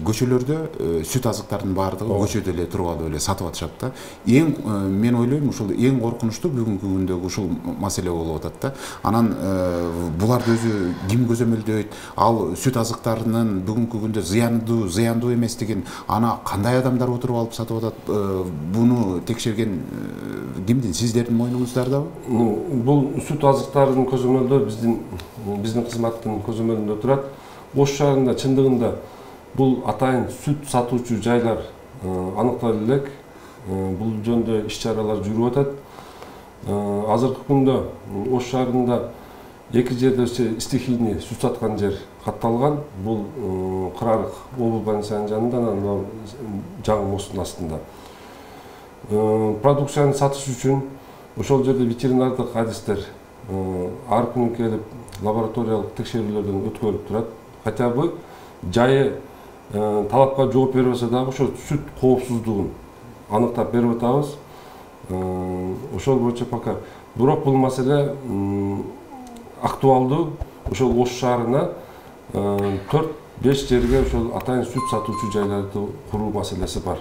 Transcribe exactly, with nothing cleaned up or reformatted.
көчөлөрдө сүт азыктардын баардыгы көчөдө эле туруп алып эле сатып атышат да. Эң мен ойлойм ушул эң коркунучтуу бүгүнкү күндөгү ушул маселе болуп атат да. Анан буларды өзү ким көзөмөлдөйт? Ал сүт азыктарынын бүгүнкү күндө зыяндуу, зыяндуу эместигин ана кандай адамдар отуруп алып сатып атат? Буну текшерген кимдин? Сиздердин мойнуңуздардабы? Бул сүт азыктарынын көзөмөлдөө биздин биздин кызматтын көзөмөлүндө турат. Ош шаарында чындыгында бул атайын сүт сатуучу жайлар аныкталып элек. Бул жөнүндө иш-чаралар жүрүп атат. Азыркы күндө Ош шаарында эки жерде стихийный сүт саткан жер катталган. Бул Кырарык обул больницанын жанында, анан жаңы мосттун астында. Продукцияны сатыш үчүн ошол жерде ветеринардык адистер ар күнү келип лабораториялык текшерүүлөрдөн өткөрүп турат. Хотя бы жайы талапка жооп бербесе дагы ошо сүт коопсуздугун аныктап берип атабыз. Ошол боюнча пока. Бирок бул маселе актуалдуу. Ошол Ош шаарына төрт беш жерге ошол атайын сүт сатуучу жайларды куруу маселеси бар.